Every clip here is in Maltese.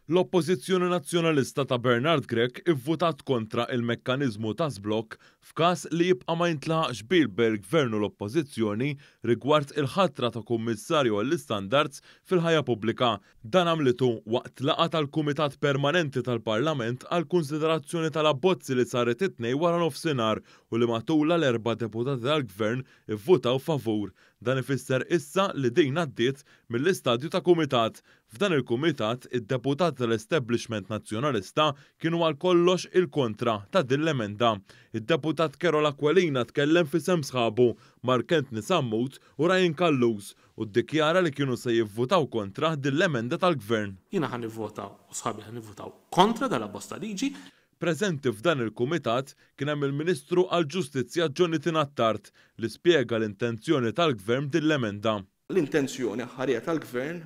L-Oppożizzjoni Nazzjonalista ta' Bernard Grech ivvutat kontra il-mekkaniżmu ta' żblokk f'każ li jibqa' ma jintlaħaqx qbil bejn il-Gvern u l-Oppożizzjoni rigward il-ħatra ta' Kummissarju għall-Istandards fil-Ħajja Pubblika. Dan għamlitu waqt laqgħa tal-Kumitat Permanenti tal-Parlament għall-kunsiderazzjoni tal-abbozzi li saret it-Tnejn waranofsinhar u li matulha l-erba' deputati tal-Gvern ivvutaw favur. Dan ifisser issa li din għaddiet mill-istadju ta' kumitat. F'dan il-kumitat, id-deputati tal-establishment Nazzjonalista kienu għal kollox il-kontra ta' din l-emenda. Id-deputat Karol Aquilina tkellem f'isem sħabu, Mark Anthony Sammut u Ryan Callus, u ddikjara li kienu se jivvutaw kontra din l-emenda tal-Gvern. Jiena ħa nivvota u sħabi ħa nivvutaw kontra dal-abbozz ta' liġi. Preżenti f'dan il-kumitat kien hemm il-Ministru għall-Ġustizzja Jonathan Attard li spjega l-intenzjoni tal-Gvern b'din l-emenda. L-intenzjoni aħħarija tal-Gvern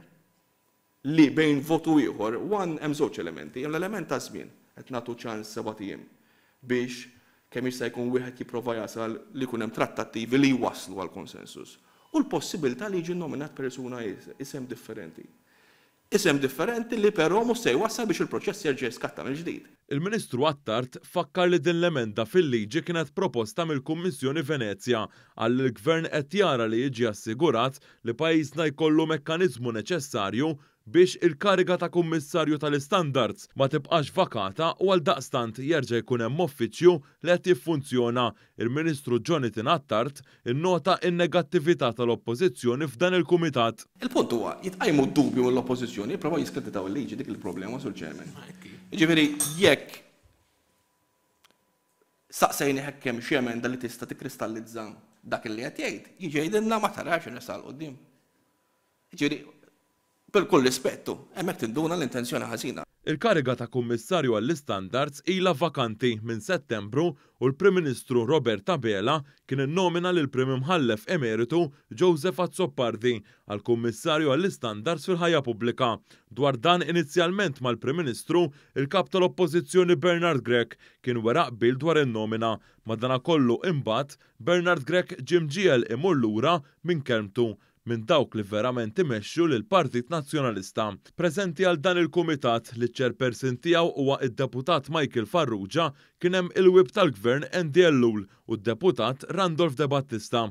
li bejn vot u ieħor, one hemm żewġ elementi, hemm l-element taż-żmien, qed nagħtu ċans sebat ijiem biex kemm jista' jkun wieħed jipprova jasal li jkun hemm trattattivi li jwasslu għal konsensus u l-possibilità li jiġi nnominat persuna isem differenti. Isem differenti li però mhux se jwassal biex il-proċess jerġa' jiskatta mill-ġdid. Il-Ministru Attard fakkar li din l-emenda fil-liġi kienet proposta mill-Kummissjoni Venezja. Qal li l-Gvern qed jara li jiġi assigurat li pajjiżna jkollu mekkaniżmu neċessarju biex il-kariga ta' Kummissarju tal-Istandards ma tibqax vakata u għaldaqstant jerġa' jkun hemm uffiċċju li qed jiffunzjona. Il-Ministru Jonathan Attard innota n-negattività tal-Oppożizzjoni f'dan il-Kumitat. Il-punt huwa, jitqajmu dubju mill-Oppożizzjoni, jipprovaw jiskreditaw il-liġi, dik il-problema, Sur Chairman. Jiġifieri jekk saqsejnih hekk hemm xi emenda li tista' tikkristallizza dak li qed jgħid, jiġi jgħidilna ma tarax irresaq 'l quddiem. Jiġifieri, bil-kull rispettu, hemmhekk tinduna l-intenzjoni ħażina. Il-kariga ta' Kummissarju għall-Istandards ilha vakanti minn Settembru u l-Prim Ministru Robert Abela kien innomina lill-Prim Imħallef Emeritu Joseph Azzopardi għal Kummissarju għall-Istandards fil-Ħajja Pubblika. Dwar dan inizjalment mal-Prim Ministru, il-Kap tal-Oppożizzjoni Bernard Grech kien wera qbil dwar in-nomina. Madanakollu imbagħad, Bernard Grech ġie mġiegħel imur lura minn kelmtu minn dawk li verament imexxu lill-Partit Nazzjonalista. Preżenti għal dan il-kumitat, li ċ-chairperson tiegħu huwa d-Deputat Michael Farrugia, kien hemm il-Whip tal-Gvern Andy Ellul u d-Deputat Randolph Debattista.